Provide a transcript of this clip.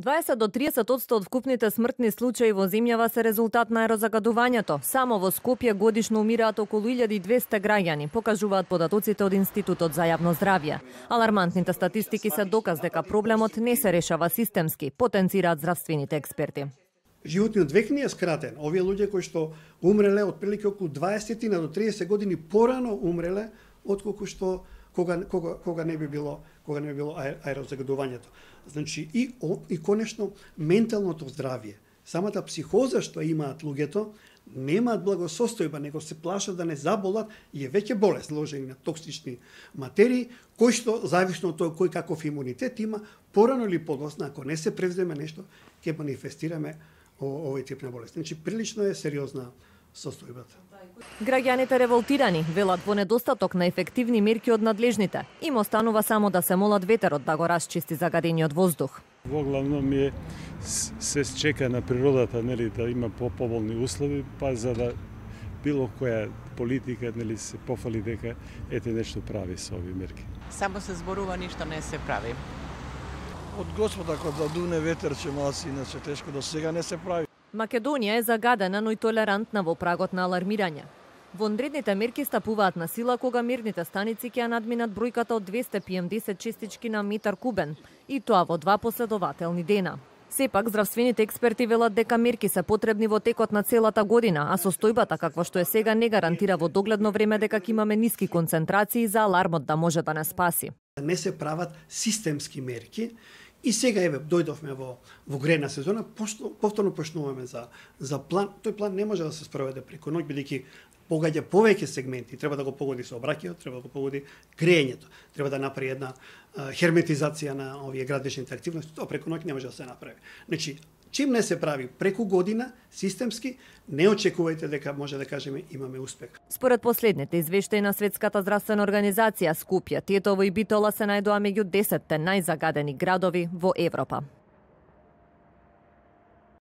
20 до 30% од вкупните смртни случаи во земјава се резултат на аерозагадувањето. Само во Скопје годишно умираат околу 1200 граѓани, покажуваат податоците од Институтот за јавно здравје. Алармантните статистики се доказ дека проблемот не се решава системски, потенцираат здравствените експерти. Животниот век не е скратен. Овие луѓе кои што умреле отприлike околу 20 до 30 години порано умреле отколку што кога не би било аерозагадувањето. Значи и конечно менталното здравје. Самата психоза што имаат луѓето немаат благосостојба, него се плашат да не заболат и е веќе болест ложени на токсични материи, кои што зависно од тоа кој каков имунитет има, порано или подоцна, ако не се превземе нешто, ќе манифестираме овој тип на болест. Значи прилично е сериозна состојбата. Граѓаните револтирани велат во недостаток на ефективни мерки од надлежните. Им останува само да се молат ветерот да го расчисти загадениот воздух. Во главном се чека на природата, нели, да има поболни услови, па за да било која политика, нели, се пофали дека ете нешто прави со овие мерки. Само се зборува, ништо не се прави. Од Господа кога да дуне ветер ќе маси, иначе тешко до сега не се прави. Македонија е загадена, но и толерантна во прагот на алармирање. Вонредните мерки стапуваат на сила кога мерните станици ќе надминат бројката од 200 PM10 честички на метар кубен, и тоа во 2 последователни дена. Сепак, здравствените експерти велат дека мерки се потребни во текот на целата година, а состојбата каква што е сега не гарантира во догледно време дека ќе имаме ниски концентрации за алармот да може да не спаси. Не се прават системски мерки. И сега еве дојдовме во грејна сезона, повторно почнуваме за план. Тој план не може да се спроведе преку ноќ, бидејќи погаѓа повеќе сегменти. Треба да го погоди сообраќајот, треба да го погоди грејењето, треба да направи една херметизација на овие градичните активности. Тоа преку ноќ не може да се направи. Значи, чим не се прави преку година, системски, не очекувајте дека може да кажеме имаме успех. Според последните извештаи на Светската здравствена организација, Скопје, Тетово и Битола се најдоа меѓу 10 најзагадени градови во Европа.